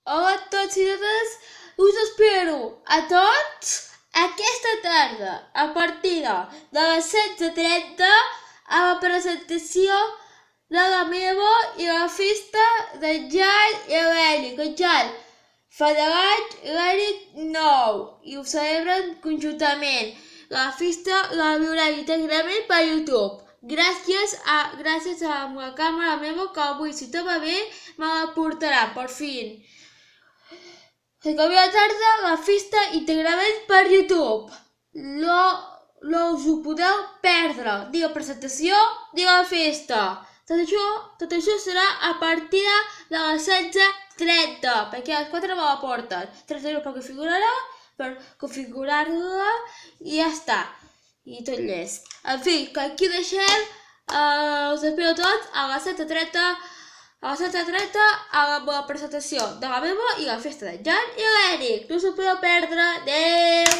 Hola a tots i totes, us espero a tots aquesta tarda a partir de les 16:30 a la presentació de la meva i la festa de Jan i l'Eric. En Jan fa 10 anys, l'Eric 9 i ho celebren conjuntament. La festa la viurem íntegrament per YouTube. Gràcies a la càmera meva que avui, si tot va bé, me la portarà, per fi. Se avui a la tarda la festa íntegrament per YouTube. No us ho podeu perdre, ni la presentació ni la festa. Tot això serà a partir de les 16:30, perquè a les 4 me la porten. 30 euros per configurar-la i ja està. I tot llest. En fi, que aquí deixem, us espero tots a les 16:30 a la presentació de la meva i la festa de Jan i l'Eric. No us ho podeu perdre. Adéu!